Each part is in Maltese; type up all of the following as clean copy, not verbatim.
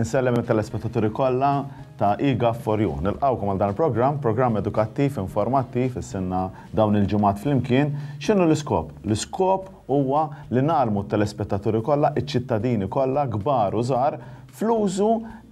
Insellem it-telespettaturi kollha ta' eGov for You. Nilqgħukom għal dan il-programm, programm edukattiv, informattiv, issinna dawn il-ġimgħat flimkien. X'inhu l-iskop? L-iskop huwa li ngħallmu t-telespettaturi kollha, iċ-ċittadini kollha, kbar u żgħar, fl-użu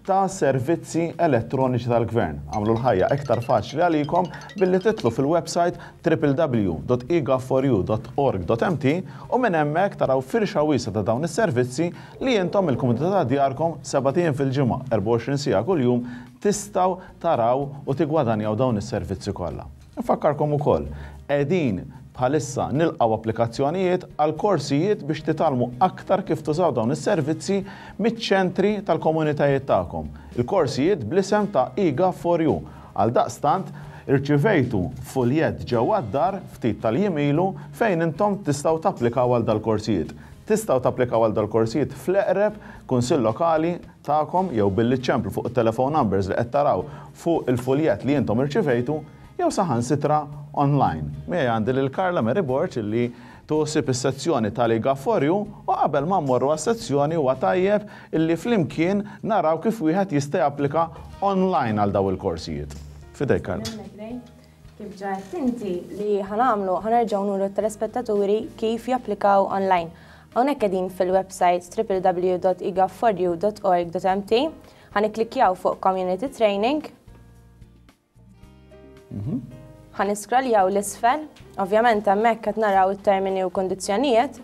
ta' servizzi elettroniċi tal-Gvern. Agħmlu l-ħajja iktar faċli għalikom billi titlu fil-website www.egov4u.org.mt u minn hemmhekk taraw firxa wiesgħa ta' dawn is-servizzi li intom mill-kumdità ta' djarkom sebat ijiem fil-ġimgħa, 24 siegħa kuljum tistgħu taraw u tiggwadanjaw dawn is-servizzi kollha. Infakkarkom ukoll, qegħdin bħalissa nilqgħu applikazzjonijiet għal korsijiet biex titgħallmu aktar kif tużaw dawn is-servizzi miċ-ċentri tal-komunitajiet tagħkom. Il-korsijiet bl-isem ta' eGov4U. Għaldaqstant, irċivejtu fuljett ġewwa d-dar ftit tal-jiem ilu fejn intom tistgħu tapplikaw għal dal-korsijiet. Tistgħu tapplikaw għal dal-korsijiet fl-eqreb Kunsill Lokali tagħkom jew billi ċċemplu fuq it-telephone numbers li qed taraw fuq il-fuljett li intom irċivejtu jew saħansitra online. Miegħi għandi lil Carla Mary Borg illi tħossib is-sezzjoni tal-eGov4U u qabel ma mmorru għas-sezzjoni huwa tajjeb illi flimkien naraw kif wieħed jista' japplika online għal dawn il-korsijiet. F'idejk Carla. Kif ġa għedt inti li ħa nagħmlu, ħa nerġgħu nuru t-telespettaturi kif japplikaw online. Hawnhekk qegħdin fil-website www.egov4u.org.mt, ħa nikklikkjaw fuq Community Training. Ħa niscrolljaw 'l isfel, ovvjament hemmhekk qed naraw it-termini u kondizzjonijiet,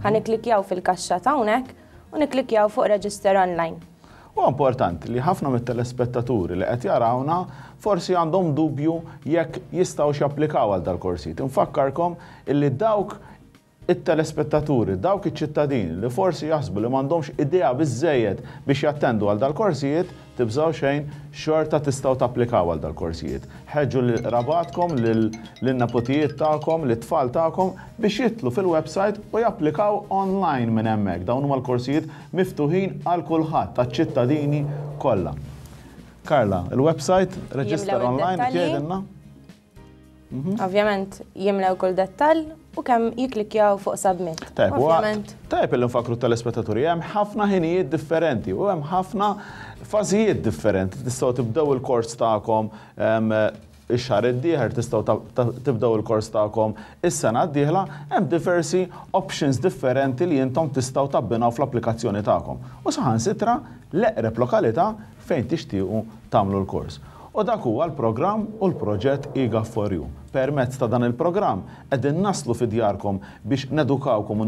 ħa nikklikkjaw fil-kaxxa ta' hawnhekk u nikklikkjaw fuq Register Online. Huwa importanti li ħafna mit-telespettaturi li qed jarawna forsi għandhom dubju jekk jistgħux japplikaw għal dal-korsijiet. Infakkarkom illi dawk it-telespettaturi, dawk iċ-ċittadini li forsi jaħsbu li m'għandhomx idea biżżejjed biex jattendu għal dal-korsijiet, tibżgħu xejn, xorta tistgħu tapplikaw għal dal-korsijiet. Ħeġġu lil qrabatkom, lin-neputijiet tagħkom, lit-tfal tagħkom biex jidħlu fil-website u japplikaw online minn hemmhekk. Dawn huma l-korsijiet miftuħin għal kulħadd, għaċ-ċittadini kollha. Carla, il-website, register Jimlew online, id-dettalji. tgħidilna? Ovvjament jimlew kull dettall u kemm jikklikkjaw fuq submit. Tajb, huwa Ovvjament. tajb li nfakru telespettaturi, hemm ħafna ħinijiet differenti u hemm ħafna fażijiet differenti. Tistgħu tibdew il-kors tagħkom ix-xahar id-dieħel, tistgħu tibdew il-kors tagħkom is-sena d-dieħla, hemm diversi options differenti li intom tistgħu tabbinaw fl-applikazzjoni tagħkom. U saħansitra l-eqreb lokalità fejn tixtiequ tagħmlu l-kors. U dak huwa l-programm u l-proġett eGov4U. Permezz ta' dan il-programm qegħdin naslu fi djarkom biex nedukawkom u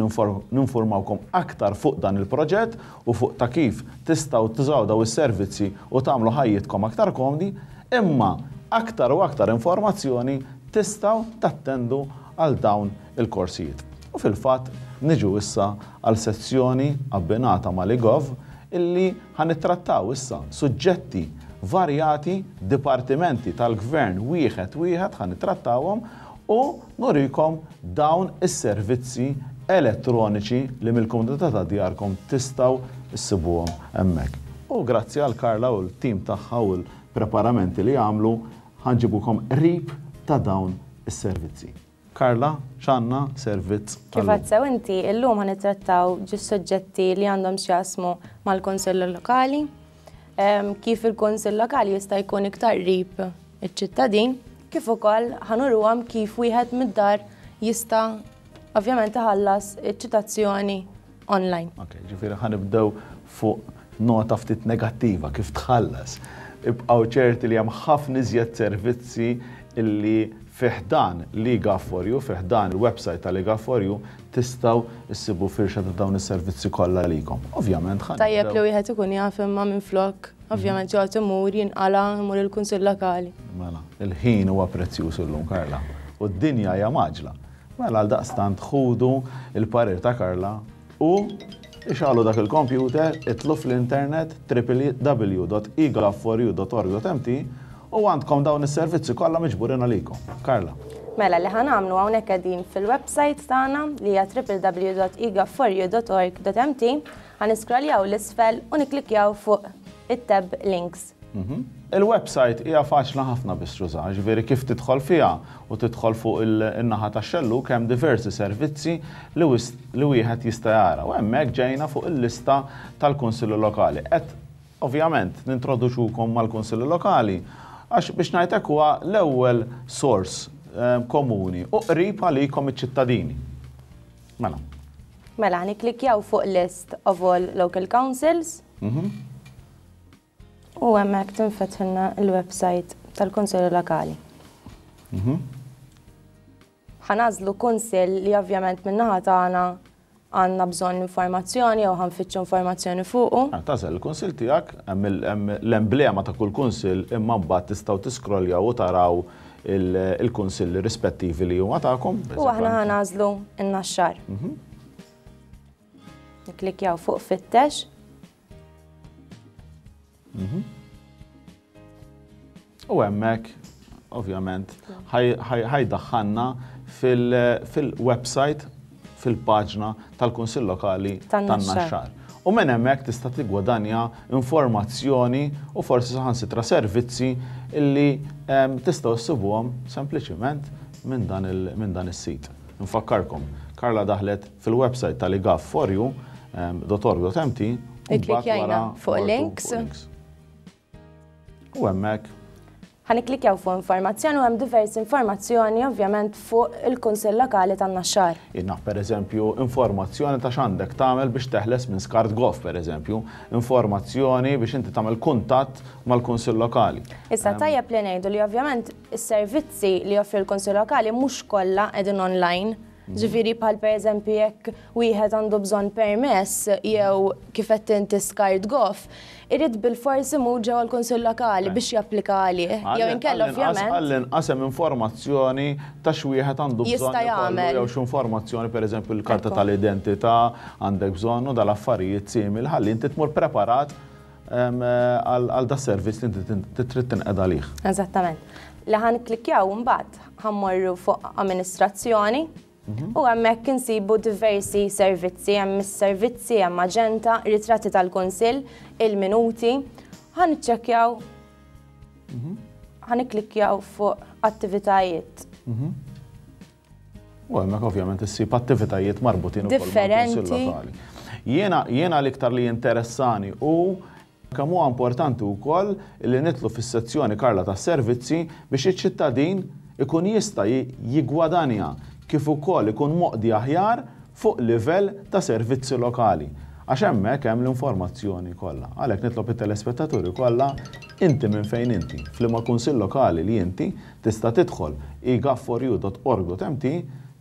ninformawkom aktar fuq dan il-proġett u fuq ta' kif tistgħu tużaw daw is-servizzi u tagħmlu ħajjitkom aktar komdi, imma aktar u aktar informazzjoni tistgħu tattendu għal dawn il-korsijiet. U fil-fatt niġu issa għal sezzjoni abbinata mal-eGov illi ħa nittrattaw issa suġġetti varjati, dipartimenti tal-gvern wieħed wieħed ħa nittrattawhom u nurikom dawn is-servizzi elettroniċi li mill-kumdità ta' djarkom tistgħu issibuhom hemmhekk. U grazzi għal Carla u l-tim tagħha u l-preparamenti li għamlu ħa nġibukom qrib ta' dawn is-servizzi. Carla, x'għandna servizz Kif tal-lum? għedt sew inti, illum ħa nittrattaw ġi suġġetti li għandhom x'jaqsmu mal-Kunsill Lokali, kif il-Kunsill Lokali jista' jkun iktar qrib iċ-ċittadin, kif ukoll ħa nuruhom kif wieħed mid-dar jista' ovvjament iħallas iċ-ċitazzjoni online. Ok, ġifieri ħa nibdew fuq nota ftit negattiva kif tħallas. Ibqgħu ċerti li hemm ħafna iżjed servizzi illi fi ħdan l-eGov4U, fi ħdan il-website tal-eGov4U, tistgħu issibu firxa ta' dawn is-servizzi kollha likom. Ovvjament ħa Tajjeb nibdew li wieħed ikun jaf imma minflok, ovvjament joqgħod imur jinqala' imur il-Kunsill Lokali. Mela, il-ħin huwa prezzjuż illum, Carla, u d-dinja hija mgħaġġla. Mela għal daqstant ħudu il-parir ta' Carla u ixgħelu dak il-computer, idħlu fl-internet www.egov4u.org.mt u għandkom dawn is-servizzi kollha miġburin għalikom. Carla. Mela li ħa nagħmlu hawnhekk qegħdin fil-website tagħna li hija www.egov4u.org.mt, ħa niscrolljaw 'l isfel u nikklikkjaw fuq it-tab links. Il-website hija faċli ħafna biex tuża, ġifieri kif tidħol fiha u tidħol fuq in-naħa tax-xellug hemm diversi servizzi li wieħed jista' jara. U hemmhekk ġejna fuq il-lista tal-Kunsilli Lokali. Qed Ovvjament, nintroduċukom mal-Kunsilli Lokali għax biex ngħid hekk huwa l-ewwel sors komuni u qrib għalikom iċ-ċittadini. Mela. Mela, niklikjaw fuq list of all local councils. U hemmhekk tinfetħilna l-website tal-Kunsilli Lokali. Ħa nagħżlu kunsill li ovvjament min-naħa tagħna għandna bżonn informazzjoni jew ħa nfittxu informazzjoni fuqu. Tagħżel il-kunsill tiegħek, hemm l-emblema ta' kull kunsill imma mbagħad tistgħu tiskrolljaw u taraw il-kunsilli rispettivi li huma tagħkom. U aħna ħa nagħżlu n-Naxxar. Niklikjaw fuq fittex. U hemmhekk, ovvjament, ħajdaħħalna fil-website, fil-paġna tal-Kunsill Lokali tan-Naxxar. U minn hemmhekk tista' tiggwadanja informazzjoni u forsi saħansitra servizzi illi tistgħu ssibuhom sempliċiment minn dan is-sit. Nfakkarkom, Karla daħlet fil-website tal-egov4u.org.mt u mbagħad wara fuq links. U hemmhekk. Ħa nikklikjaw fuq informazzjoni u hemm diversi informazzjoni ovvjament fuq il-Kunsill Lokali tan-Naxxar. Jien naf pereżempju informazzjoni ta' x'għandek tagħmel biex teħles minn skart goff pereżempju, informazzjoni biex inti tagħmel kuntatt mal-Kunsill Lokali. Issa tajjeb li ngħidu li ovvjament is-servizzi li joffri l-Kunsill Lokali mhux kollha qegħdin online. Ġifieri bħal pereżempju jekk wieħed għandu bżonn permess jew kif qed inti skart goff, irid bilfors imur ġewwa l-Kunsill Lokali biex japplika għalih. Jew inkella ovvjament. Għall-inqas hemm informazzjoni ta' x'wieħed għandu bżonn Jista' jagħmel. Jew x'informazzjoni pereżempju l-karta tal-identità għandek bżonn u dal-affarijiet simili ħalli inti tmur preparat għal da servizz li inti trid tinqeda għalih. Eżattament. Li ħa nikklikkjaw imbagħad ħa mmorru fuq amministrazzjoni u hemmhekk insibu diversi servizzi, hemm is-servizzi, hemm aġenda, ritratti tal-Kunsill, il-minuti. Ħa niċċekkjaw, ħa nikklikkjaw fuq attivitajiet. U hemmhekk ovvjament issib attivitajiet marbutin ukoll Differenti. lokali. Jiena jiena l-iktar li interessani u kemm huwa importanti wkoll li nidħlu fis-sezzjoni Karla tas-servizzi biex iċ-ċittadin ikun jista' jiggwadanja kif ukoll ikun moqdi aħjar fuq livell ta' servizzi lokali. Għax hemmhekk hemm l-informazzjoni kollha. Għalhekk nitlob it-telespettaturi kollha inti minn fejn inti, f'liema kunsill lokali li inti tista' tidħol egov4u.org.mt,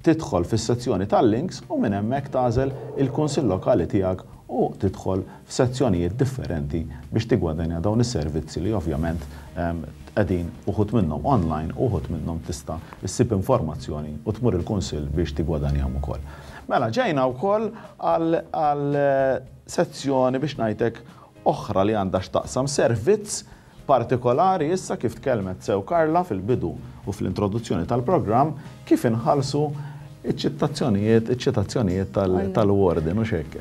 tidħol fis-sezzjoni tal-links u minn hemmhekk tagħżel il-kunsill lokali tiegħek u tidħol f'sezzjonijiet differenti biex tigwadanja dawn is-servizzi li ovvjament qegħdin uħud minnhom online u uħud minnhom tista' issib informazzjoni u tmur il-kunsill biex tigwadanjahom ukoll. Mela ġejna wkoll għal sezzjoni biex ngħidlek oħra li għandha x'taqsam servizz partikolari issa kif tkellmet sew Karla fil-bidu u fl-introduzzjoni tal-programm kif inħallsu iċ-ċitazzjonijiet, iċ-ċitazzjonijiet tal-warden u xek.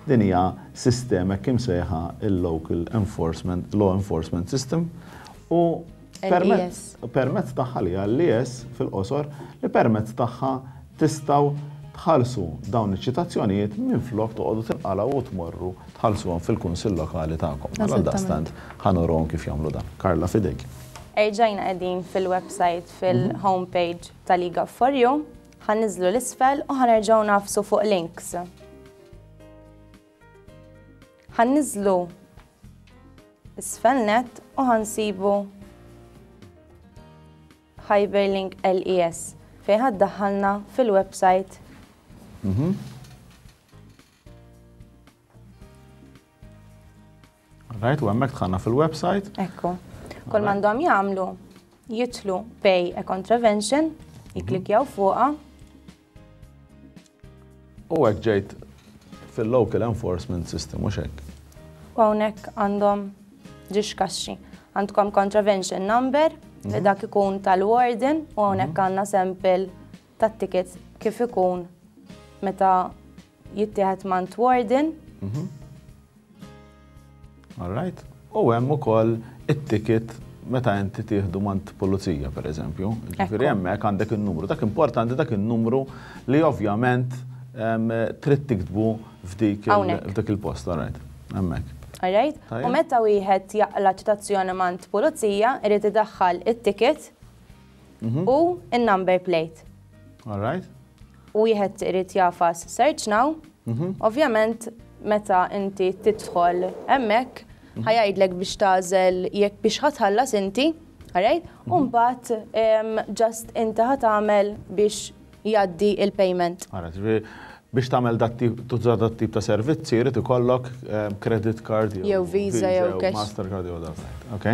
Din hija sistema kim sejħa il-Local Enforcement, Law Enforcement System u permezz tagħha li għall-LES fil-qosor li permezz tagħha tistgħu tħallsu dawn iċ-ċitazzjonijiet minn flok toqgħodu tinqalgħu u tmorru tħallsuhom fil-kunsill lokali tagħkom. Għal daqstant ħa nuruhom kif jagħmlu dan. Karla fidejk. Erġajna qegħdin fil-website fil-homepage tal-eGov4U, ħa niżlu 'l isfel u ħa nerġgħu nagħfsu fuq links. Ħa niżlu isfel net u ħa nsibu Hyperlink LES fejn ħa ddaħħalna fil-website. Right, u hemmhekk dħalna fil-website. Ekku. Kull m'għandhom jagħmlu jidħlu pay a contravention, jikklikjaw fuqha. U hekk ġejt fil-local enforcement system, mhux hekk. U hawnhekk għandhom ġiex kaxxi. Għandkom contravention number li dak ikun tal-warden u hawnhekk għandna sample tat-ticket kif ikun meta jittieħed mant warden. All right. U hemm ukoll it-ticket meta inti tieħdu mant pulizija, per eżempju. Ġifieri hemmhekk għandek in-numru. Dak importanti dak in-numru li ovvjament trid tiktbu f'dik Hawnhekk. f'dik il-post, all right. Hemmhekk. Alright? U meta wieħed jaqla ċitazzjoni mant pulizija, irid idaħħal it-ticket mhm. u in-number plate. Alright. U wieħed irid jafas search now. Mhm. Ovvjament meta inti tidħol hemmhekk mhm. ħajajdlek biex tagħżel jekk biex ħatħallas inti, alright? U mbagħad just inti ħatagħmel biex jgħaddi il-payment. Alright, biex tagħmel dat tip tuża dat tip ta' servizzi jrid ikollok ehm, credit card jew Visa jew cash. Mastercard jew dak. Ok.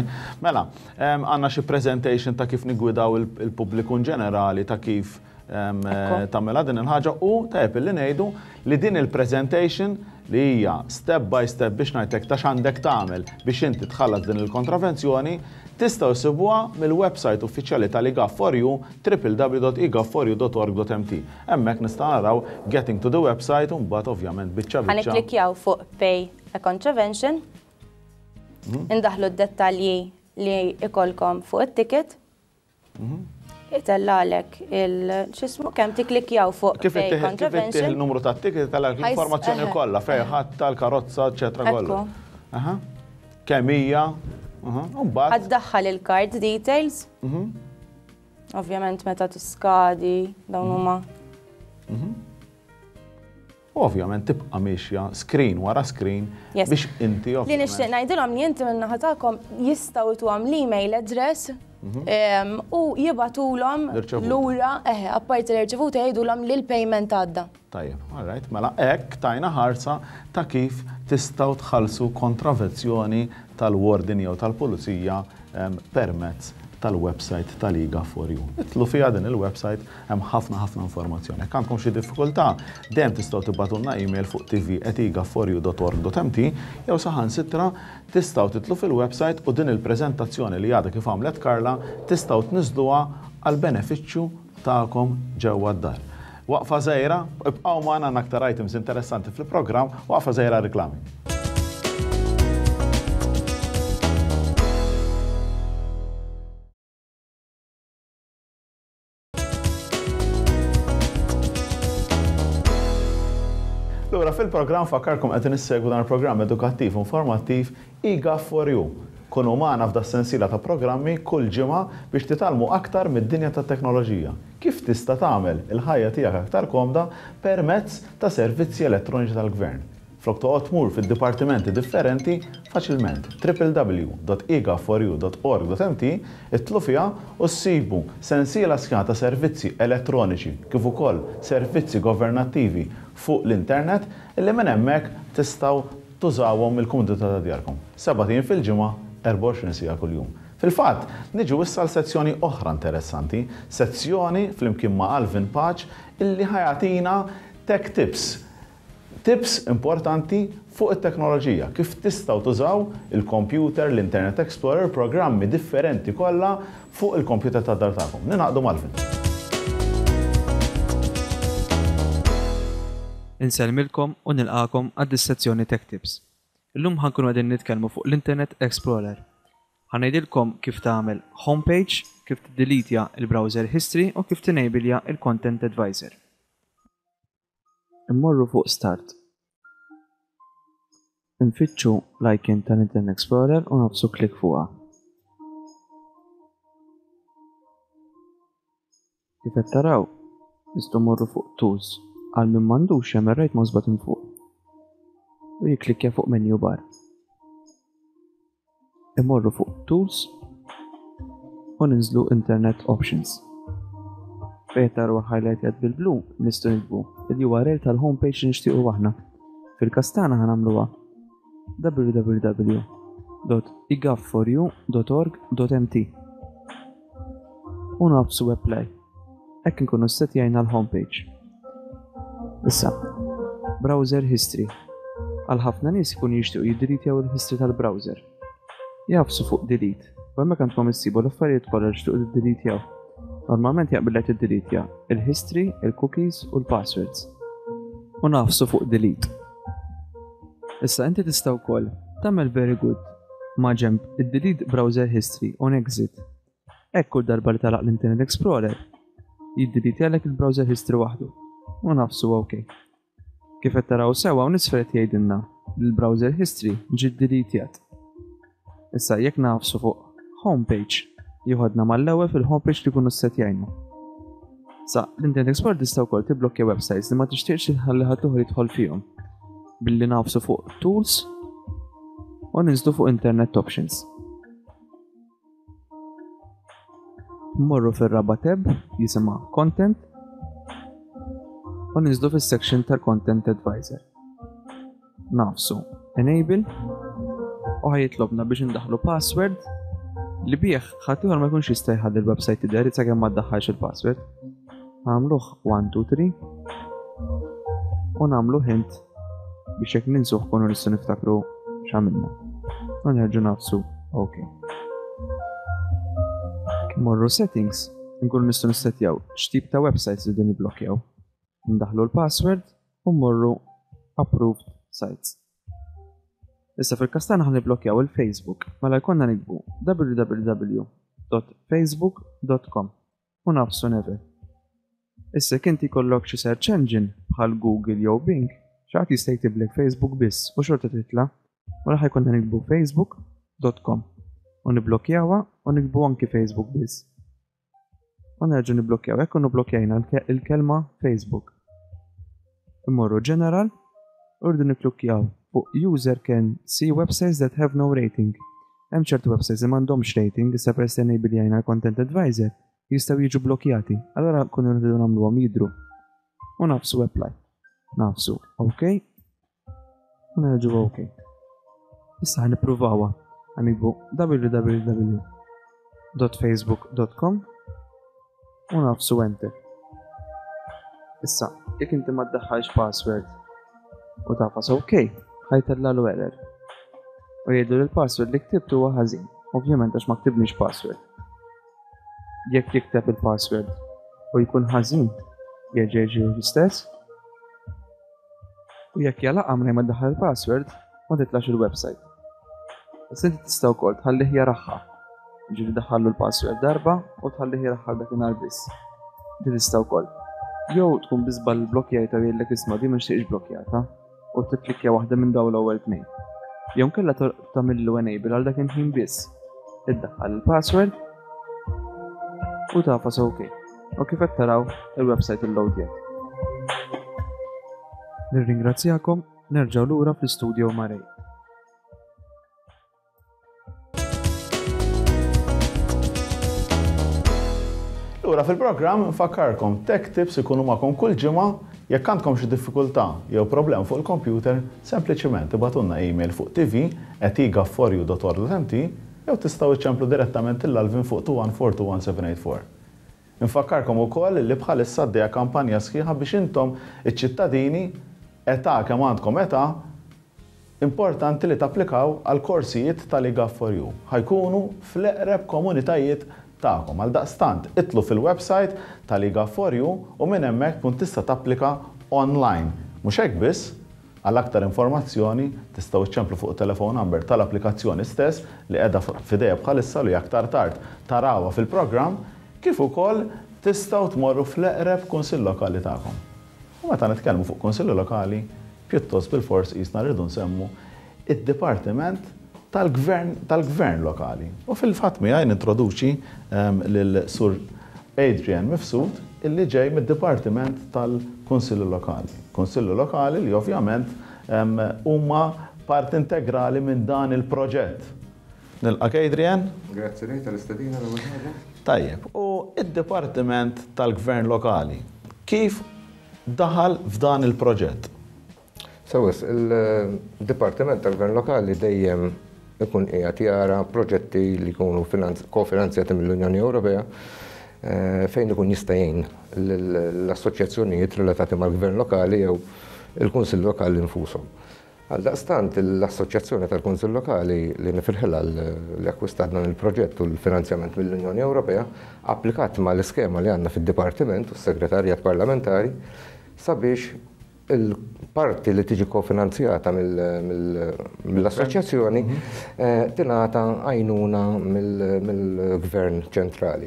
Mela, ehm, għandna xi presentation ta' kif nigwidaw il-pubbliku in ġenerali ta' kif ehm, tagħmilha din il-ħaġa u tajjeb li ngħidu li din il-presentation li hija step by step biex ngħidlek ta' x'għandek tagħmel biex inti tħallas din il-kontravenzjoni, tistgħu ssibuha mill-website uffiċjali tal-eGov4U www.egov4u.org.mt. Hemmhekk nistgħu naraw getting to the website u mbagħad ovvjament biċċa biċċa. Ħa nikklikkjaw fuq pay a contravention, indaħħlu d-dettalji li jkollkom fuq it-ticket. Itellgħalek il x'ismu kemm tikklikkjaw fuq Kif ittih kif ittih il-numru tat-ticket itellgħalek l-informazzjoni kollha fejn ħadtha l-karozza eċetera kollu. Aha. Kemm hija? U mbagħad. Ħa ddaħħal il-card details. Ovvjament meta tiskadi dawn huma. U ovvjament tibqa' miexja screen wara screen biex inti Li nixtieq ngħidilhom li inti min-naħa tagħkom jistgħu ituhom l-email address mhm. u jibgħatulhom lura eħe apparti l-irċevuta jgħidulhom li l-payment għadda. Tajjeb, all right, mela hekk tajna ħarsa ta' kif tistgħu tħallsu kontravezzjoni tal-warden jew tal-pulizija permezz tal-website tal-eGov4U. Idħlu fiha din il-website, hemm ħafna ħafna informazzjoni. Jekk għandkom xi diffikultà, dejjem tistgħu tibgħatulna email fuq tv@egov4u.org.mt jew saħansitra tistgħu tidħlu fil-website u din il-preżentazzjoni li għadha kif għamlet Carla tistgħu tniżżluha għall-benefiċċju tagħkom ġewwa d-dar. Waqfa żgħira, ibqgħu magħna għandna aktar items interessanti fil-programm, waqfa żgħira għar-riklami. Lura fil-programm fakkarkom qed issegwu dan il-programm edukattiv u informattiv eGov for You. Kunu magħna f'das-sensiela ta' programmi kull ġimgħa biex titgħallmu aktar mid-dinja tat-teknoloġija. Kif tista' tagħmel il-ħajja tiegħek aktar komda permezz ta' servizzi elettroniċi tal-Gvern. Flok toqgħod tmur fid-dipartimenti differenti, faċilment www.egov4u.org.mt idħlu fiha u ssibu sensiela sħiħa ta' servizzi elettroniċi kif ukoll servizzi governattivi fuq l-internet illi minn hemmhekk tistgħu tużawhom mill-kumdità ta' djarkom. Sebat ijiem fil-ġimgħa, 24 siegħa kuljum. Fil-fatt, niġu issa għal sezzjoni oħra interessanti, sezzjoni flimkien ma' Alvin Pace illi ħa jagħtina tech tips, tips importanti fuq it-teknoloġija, kif tistgħu tużaw il-computer, l-Internet Explorer, programmi differenti kollha fuq il-computer tad-dar tagħkom. Ningħaqdu m'Alvin. Insellmilkom u nilqagħkom għad-dissezzjoni Tech Tips. Illum ħa nkunu qegħdin nitkellmu fuq l-Internet Explorer. Ħa ngħidilkom kif tagħmel home page, kif tiddelitja l-browser history u kif tinejbilja l-Content Advisor. Immorru fuq Start. Infittxu l-icon tal-Internet Explorer u nagħfsu klikk fuqha. Kif qed taraw, nistgħu mmorru fuq Tools għal min m'għandux jagħmel right mouse button fuq u jikklikkja fuq menu bar. Imorru fuq Tools u ninżlu Internet Options. Fejn taraw highlighted bil-blu nistgħu niktbu il-URL tal-homepage li nixtiequ aħna. Fil-każ tagħna ħa nagħmluha www.igov4u.org.mt u nagħfsu Apply. Hekk inkunu ssettjajna l-homepage. Issa, browser history. Għal ħafna nies ikunu jixtiequ jiddelitjaw il-history tal-browser. Jagħfsu fuq delete u hemmhekk għandkom issibu l-affarijiet kollha li tixtiequ tiddelitjaw. Normalment jaqbillek tiddelitja il-history, il-cookies u l-passwords. U nagħfsu fuq delete. Issa inti tista' wkoll tagħmel very good ma' ġenb id-delete browser history on exit. Hekk kull darba li tagħlaq l-Internet Explorer, jiddilitjalek il-browser history waħdu u nagħfsu OK. Kif qed taraw sew hawn isfel qed jgħidilna. li l-browser history ġie ddeletjat. Issa jekk nagħfsu fuq homepage jieħodna mal-ewwel fil-homepage li kunu ssetjajna. Sa, l-Internet Explorer tista' wkoll tiblokkja websites li ma tixtieqx li tħalli ħadd ieħor jidħol fihom billi nagħfsu fuq Tools u ninżlu fuq Internet Options. Mmorru fir-raba' tab jisimha Content u ninżlu fis-section tal-Content Advisor. Nagħfsu Enable u ħa jitlobna biex indaħħlu password li bih ħaddieħor ma jkunx jista' jħalli l-website tidher sakemm ma ddaħħalx il-password. Nagħmluh 1 2 3 u nagħmlu hint biex jekk ninsuh kunu nistgħu niftakru x'għamilna. U nerġgħu nagħfsu OK. Morru settings, nkunu nistgħu nissetjaw x'tip ta' websites li din niblokkjaw. Ndaħħlu l-password u mmorru approved sites. Issa fil-każ tagħna ħa niblokkjaw il-Facebook, mela jkollna niktbu www.facebook.com u nagħfsu never. Issa jekk inti jkollok xi search engine bħal Google jew Bing, xi ħadd jista' jktiblek Facebook biss u xorta titla', mela ħa jkollna niktbu facebook.com u niblokkjawha u niktbu anki Facebook biss. U nerġgħu niblokkjaw hekk u niblokkjajna l-kelma Facebook. Immorru General u rridu nikklukkjaw fuq User can see websites that have no rating. Hemm ċertu websites li m'għandhomx rating, issa peress li enabljajna l-Content Advisor, jistgħu jiġu blokkjati. Allura nkunu rridu nagħmluhom jidhru. U nagħfsu Apply. Nagħfsu OK. U nerġgħu OK. Issa ħa nippruvawha. Ħa niktbu www.facebook.com u nagħfsu Enter. Issa, jekk inti ma ddaħħalx password u tagħfas OK, ħajtellalu error. U jgħidu li l-password li ktibt huwa ħażin. Ovvjament għax ma ktibniex password. Jekk jikteb il-password u jkun ħażin, jerġa' jiġi l-istess. U jekk jagħlaqha mingħajr ma ddaħħal il-password, ma titlax il-website. Issa inti tista' wkoll tħallih jaraha. Ġifieri daħħallu l-password darba u tħallih jaraha dakinhar biss. Din tista' wkoll. Jew tkun bi żball blokkjajta u jgħidlek isma' din ma nixtieqx blokkjata u tikklikkja waħda minn dawn l-ewwel tnejn. Jew inkella tagħmillu enable għal dak il-ħin biss. Iddaħħal il-password u tagħfas OK. U kif qed taraw il-website illoadjat. Nirringrazzjakom, nerġgħu lura fl-istudio ma' Ray. Lura fil-programm nfakkarkom Tech Tips ikunu magħkom kull ġimgħa jekk għandkom xi diffikultà jew problem fuq il-computer, sempliċiment ibagħtulna email fuq tv@egov4u.org.mt jew tistgħu iċċemplu direttament lil Alvin fuq 214 21784. Infakkarkom ukoll li bħalissa għaddejja kampanja sħiħa biex intom iċ-ċittadini, età kemm għandkom età, importanti li tapplikaw għal korsijiet tal-eGov4U. Ħa jkunu fl-eqreb komunitajiet tagħkom. Għaldaqstant, idħlu fil-website tal-eGov4U u minn hemmhekk tkun tista' tapplika online. Mhux hekk biss, għal aktar informazzjoni tistgħu iċċemplu fuq telephone number tal-applikazzjoni stess li qiegħda f'idejja bħalissa li aktar tard tarawha fil-programm, kif ukoll tistgħu tmorru fl-eqreb kunsill lokali tagħkom. U meta nitkellmu fuq kunsilli lokali, pjuttost bilfors qisna rridu nsemmu id-Dipartiment tal-Gvern tal-Gvern Lokali. U fil-fatt miegħi nintroduċi lil Sur Adrian Mifsud illi ġej mid-Dipartiment tal-Kunsilli Lokali. Kunsilli Lokali li ovvjament huma parti integrali minn dan il-proġett. Nilqak Adrian. Grazzi Ray tal-istedina l-ewwel ħaġa. Tajjeb, u id-Dipartiment tal-Gvern Lokali kif daħal f'dan il-proġett? Sewwa, il-Dipartiment tal-Gvern Lokali dejjem ikun qiegħed jara proġetti li jkunu kofinanzjati mill-Unjoni Ewropea fejn ikun jista' jgħin l-assoċjazzjonijiet relatati mal-Gvern Lokali jew il-Kunsill Lokali nfushom. Għaldaqstant l-Assoċjazzjoni tal-Kunsill Lokali li nifirħilha li akkwistat dan il-proġett u l-finanzjament mill-Unjoni Ewropea applikat mal-iskema li għandna fid-Dipartiment u s-Segretarjat Parlamentari sabiex il-parti li tiġi kofinanzjata mill-assoċjazzjoni tingħata għajnuna mill-Gvern ċentrali.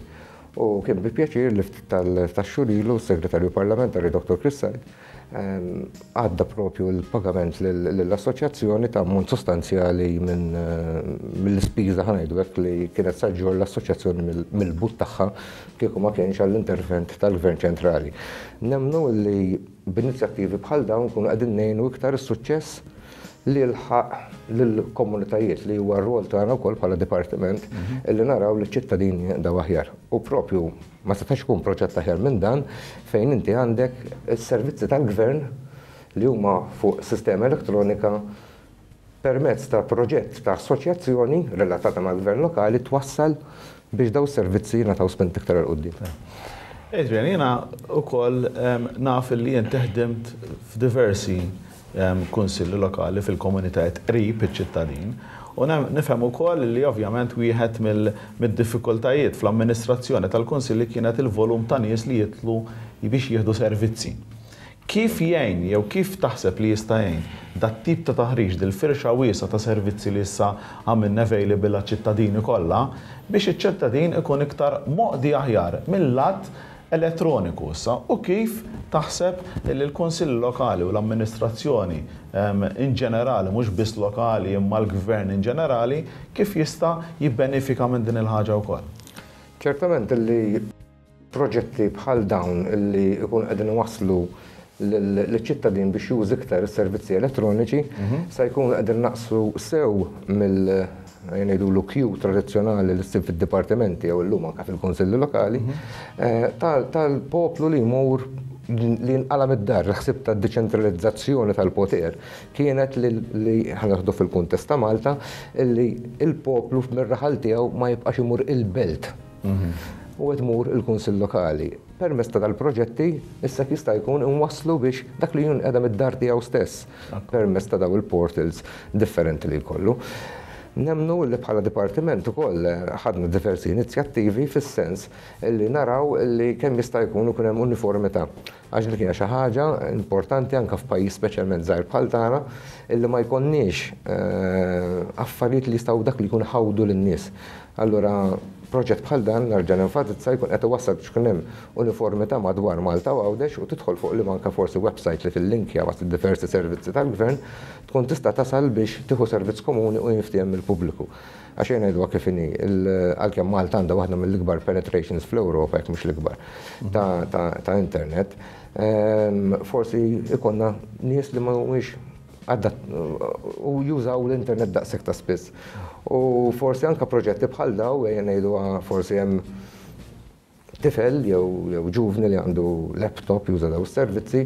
U kien bi pjaċir li ftit tax-xhur ilu s-Segretarju Parlamentari Dr. Chris Said għadda propju l-pagament lill-assoċjazzjoni ta' ammont sostanzjali minn mill-ispiża ħa ngħidu hekk li kienet sa ġġorr l-assoċjazzjoni mill-but tagħha kieku ma kienx għall-intervent tal-Gvern ċentrali. Nemmnu li b'inizjattivi bħal dawn nkunu qegħdin ngħinu iktar is-suċċess li jilħaq lill-komunitajiet li huwa r-rwol tagħna wkoll bħala dipartiment illi naraw li ċ-ċittadini jinqdew aħjar. U propju ma setax ikun proġett aħjar minn dan fejn inti għandek is-servizzi tal-gvern li huma fuq sistema elettronika permezz ta' proġett ta' assoċjazzjoni relatata mal-gvern lokali twassal biex dawn is-servizzi jingħataw spinta iktar 'il quddiem. Adrian, jiena wkoll naf li inti ħdimt f'diversi kunsilli lokali fil-komunitajiet qrib iċ-ċittadin u nifhem ukoll li ovvjament wieħed mid-diffikultajiet fl-amministrazzjoni tal-kunsilli kienet il-volum ta' nies li jidħlu biex jieħdu servizzi. Kif jgħin jew kif taħseb li jista' jgħin dat-tip ta' taħriġ, dil-firxa wiesgħa ta' servizzi li issa għamilna available għaċ-ċittadini kollha, biex iċ-ċittadin ikun iktar moqdi aħjar mil-lat elettroniku issa u kif taħseb li l-Kunsilli Lokali u l-amministrazzjoni in ġenerali, mhux biss lokali imma l-Gvern in ġenerali, kif jista' jibbenifika minn din il-ħaġa wkoll? Ċertament li Proġetti bħal dawn li jkunu qegħdin iwasslu liċ-ċittadin biex juża iktar is-servizzi elettroniċi se jkunu qegħdin inaqqsu sew mill ejja ngħidulu queue tradizzjonali li ssib fid-dipartimenti jew illum anke fil-kunsilli lokali tal-poplu li jmur li jinqala' mid-dar. Il-ħsieb tad-deċentralizzazzjoni tal-poter kienet li ħa nieħdu fil-kuntest ta' Malta, li l-poplu mir-raħal tiegħu ma jibqax imur il-belt. U qed tmur il-Kunsill Lokali. Permezz ta' dal-proġetti, issa jista' jkun inwasslu biex dak li jinqeda mid-dar tiegħu stess permezz ta' dawn il-portals differenti li jkollu. Nemmnu li bħala dipartiment ukoll ħadna diversi inizjattivi fis-sens li naraw li kemm jista' jkun ikun hemm uniformità. Għax dik hija xi ħaġa importanti anke f'pajjiż speċjalment żgħir bħal tagħna illi ma jkollniex affarijiet li jistgħu dak li jkun iħawdu lin-nies. Allura proġett bħal dan, nerġa' nenfasizza, jkun qed iwassal biex ikun hemm uniformità madwar Malta u Għawdex u tidħol fuq liema anke forsi website li tillinkja ma' diversi servizzi tal-Gvern, tkun tista' tasal biex tieħu servizz komuni u jinftiehem mill-pubbliku. Għax ejja ngħiduha kif inhi, għalkemm Malta għandha waħda mill-ikbar penetrations fl-Ewropa, jekk mhux l-ikbar, ta' internet, forsi jkollna nies li ma humiex u jużaw l-internet daqshekk ta' spiss. U forsi anke proġetti bħal daw, ejja ngħiduha forsi hemm tifel jew ġuvni li għandu laptop juża daw is-servizzi,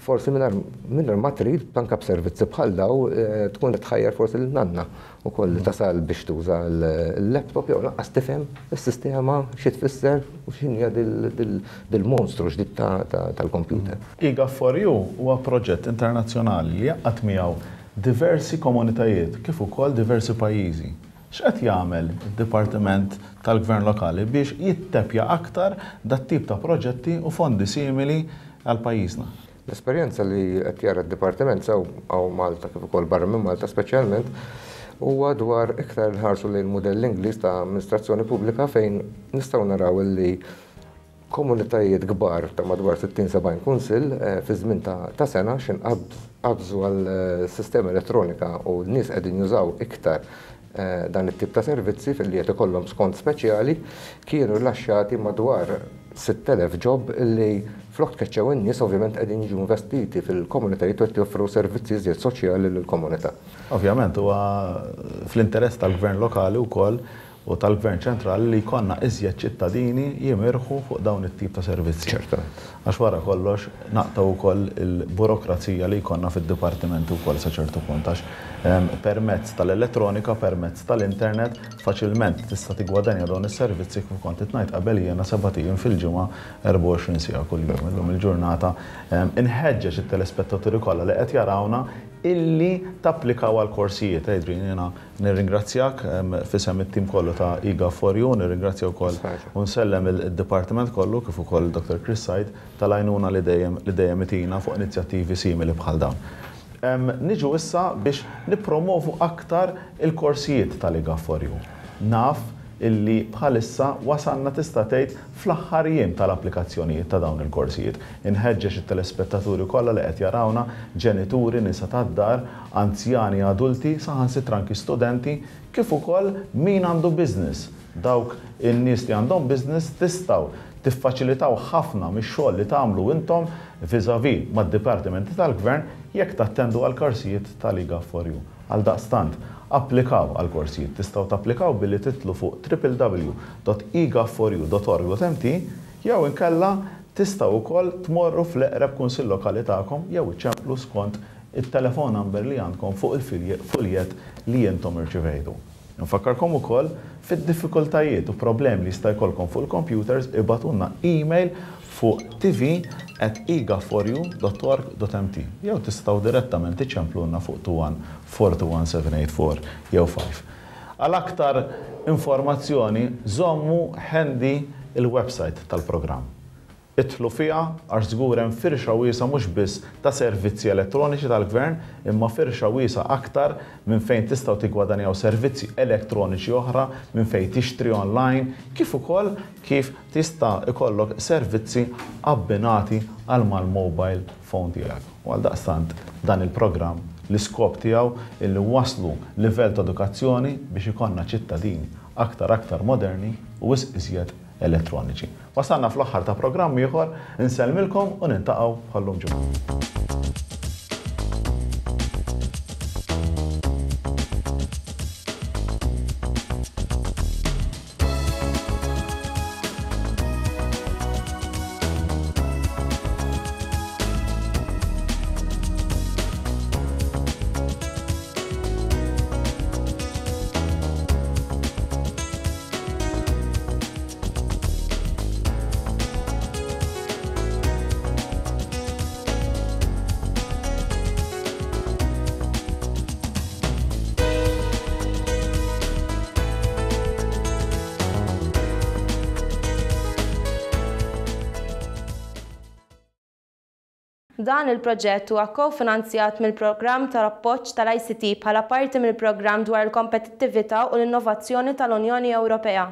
forsi mingħajr ma trid anke b'servizzi bħal daw tkun qed tħajjar forsi lil nanna wkoll li tasal biex tuża l-laptop jew lanqas tifhem is-sistema xi tfisser u x'inhija dil-monstru ġdid tal-computer. eGov4U huwa proġett internazzjonali li jgħaqqad miegħu diversi komunitajiet kif ukoll diversi pajjiżi. X'qed jagħmel id-Dipartiment tal-Gvern Lokali biex jitteppja aktar dat-tip ta' proġetti u fondi simili għal pajjiżna? L-esperjenza li qed jara d-Dipartiment sew hawn Malta kif ukoll barra minn Malta speċjalment huwa dwar iktar nħarsu lejn mudell Ingliż ta' amministrazzjoni pubblika fejn nistgħu naraw li Komunitajiet kbar ta' madwar 60-70 kunsill fi żmien ta' sena x'in qabżu għal sistema elettronika u n-nies qegħdin jużaw iktar dan it-tip ta' servizzi filli qed ikollhom skont speċjali, kienu rilaxxati madwar 6,000 job li flok tkeċċew in-nies ovvjament qegħdin jiġu investiti fil-komunitajiet u qed joffru servizzi iżjed soċjali lill-komunità. Ovvjament huwa fl-interess tal-Gvern lokali wkoll u tal-Gvern ċentrali li jkollna iżjed ċittadini jimirħu fuq dawn it-tip ta' servizzi. Ċertament. Għax wara kollox naqtgħu wkoll il-burokrazija li jkollna fid-dipartimenti wkoll sa ċertu punt għax permezz tal-elettronika, permezz tal-internet, faċilment tista' tiggwadanja dawn is-servizzi kif kont qed ngħid qabel jiena sebat ijiem fil-ġimgħa 24 siegħa kuljum. Illum il-ġurnata inħeġġeġ it-telespettaturi kollha li qed jarawna illi tapplikaw għall-korsijiet. Adrian, jiena Nirringrazzjak f'isem it-tim kollu ta' eGov4U, nirringrazzja wkoll u nsellem id-dipartiment kollu kif ukoll Dottor Chris Said tal-għajnuna li dejjem li dejjem itina fuq inizjattivi simili bħal dawn. Niġu issa biex nippromovu aktar il-korsijiet tal-eGov4U. Naf illi bħalissa wasalna tista' tgħid fl-aħħar jiem tal-applikazzjonijiet ta' dawn il-korsijiet. Inħeġġeġ it-telespettaturi kollha li qed jarawna, ġenituri, nisa tad-dar, anzjani, adulti, saħansitra anki studenti, kif ukoll min għandu business. Dawk in-nies li għandhom business tistgħu tiffaċilitaw ħafna mix-xogħol li tagħmlu intom vis-à-vis mad-dipartimenti tal-Gvern jekk tattendu għall-korsijiet tal-eGov4U. Għaldaqstant, applikaw għall-korsijiet. Tistgħu tapplikaw billi tidħlu fuq www.egov4u.org.mt jew inkella tistgħu wkoll tmorru fl-eqreb kunsill lokali tagħkom jew iċċemplu skont it-telephone number li għandkom fuq il-fuljett li intom irċivejtu. Infakkarkom ukoll fid-diffikultajiet u problemi li jista' jkollkom fuq il-computers ibagħtulna email fuq tv@egov4u.org.mt jew tistgħu direttament iċċemplulna fuq 21 421 784 jew 5. Għal aktar informazzjoni żommu handy il-website tal-programm. Idħlu fiha għax żgur hemm firxa wiesgħa mhux biss ta' servizzi elettroniċi tal-Gvern imma firxa wiesgħa aktar minn fejn tistgħu tiggwadanjaw servizzi elettroniċi oħra, minn fejn tixtri online, kif ukoll kif tista' jkollok servizzi abbinati għal mal-mobile phone tiegħek. U għaldaqstant dan il-programm l-iskop tiegħu illi nwasslu livell ta' edukazzjoni biex ikollna ċittadini aktar aktar moderni u wisq iżjed elettroniċi. Wasalna fl-aħħar ta' programm ieħor, insellmilkom u niltaqgħu bħal-lum ġimgħa. Dan il-proġett huwa kofinanzjat mill-Programm tal-Appoġġ tal-ICT bħala parti mill-Programm dwar il-Kompetittività u l-Innovazzjoni tal-Unjoni Ewropea.